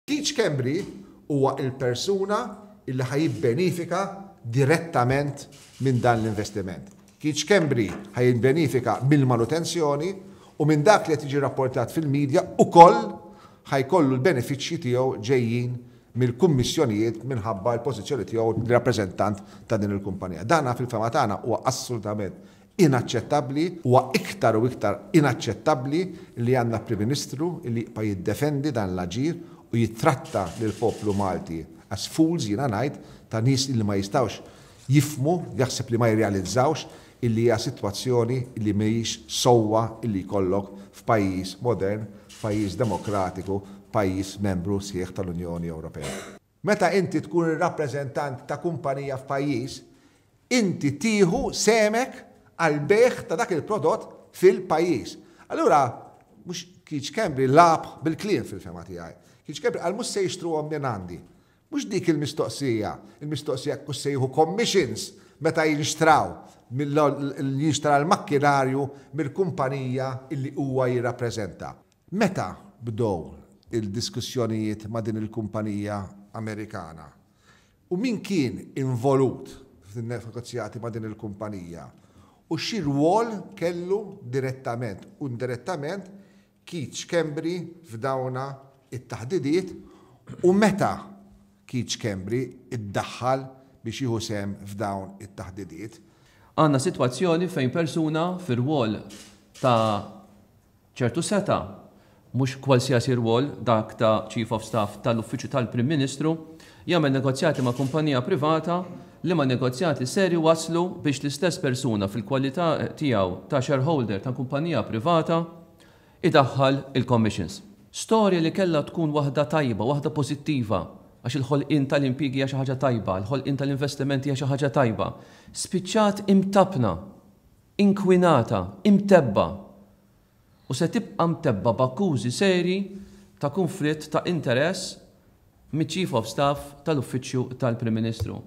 Keith Schembri huwa il-persuna illi ħa jibbenifika direttament minn dan l-investiment. Keith Schembri ħa jibbenifika mill-manutenzjoni u minn dak li qed jiġi rapportat fil-media ukoll ħa jkollu l-benefiċċji tiegħu ġejjin mill-kummissjonijiet minħabba l-pożizzjoni tiegħu rappreżentant ta' din il-kumpanija. Dana fil-fehma tagħna huwa assolutament inaċċettabbli, huwa iktar u iktar inaċċettabbli li għandna Prim Ministru li jibqa' jiddefendi dan l-aġir u jittratta lill-poplu Malti as fools, jiena ngħid, ta' nies li ma jistgħux jifhmu, jaħseb li ma jirrealizzawx illi hija sitwazzjoni li mhijiex sewwa illi jkollok f'pajjiż modern, pajjiż demokratiku, pajjiż membru sħiħ tal-Unjoni Ewropea. Meta inti tkun ir-rappreżentant ta' kumpanija f'pajjiż, inti tieħu semek għal bejgħ ta' dak il-prodott fil-pajjiż. Allura, mhux Keith Schembri lagħab bil-kliem fil-fehma tiegħi. Keith Schembri qal mhux se jixtruhom minn għandi. Mhux dik il-mistoqsija, il-mistoqsija kux se jieħu commissions meta jinxtraw jinxtra l-makkinarju mill-kumpanija illi huwa jirrappreżenta. Meta bdew il-diskussjonijiet ma' din il-kumpanija Amerikana? U min kien involut fin-negozjati ma' din il-kumpanija? U xi rwol kellu direttament u indirettament Keith Schembri f'dawna it-taħdidiet u meta Keith Schembri iddaħħal biex jieħu sehem f'dawn it-taħdidiet? Għandna sitwazzjoni fejn persuna fir-rwol ta' ċertu setgħa, mhux kwalsiasi rwol, dak ta' Chief of Staff tal-Uffiċċju tal-Prim Ministru, jagħmel negozjati ma' kumpanija privata liema negozjati ser iwasslu biex l-istess persuna fil-kwalità tiegħu ta' shareholder ta' kumpanija privata idaħħal il-commissions. Storja li kellha tkun waħda tajba, waħda pożittiva, għax il-ħolqien tal-impjiegi hija xi ħaġa tajba, il-ħolqien tal-investimenti hija xi ħaġa tajba, spiċċat imtappna, inkwinata, imtebba' u se tibqa' mtebba' b'akkużi serji ta' kunflitt ta' interess miċ-Chief of Staff tal-Uffiċċju tal-Prim Ministru.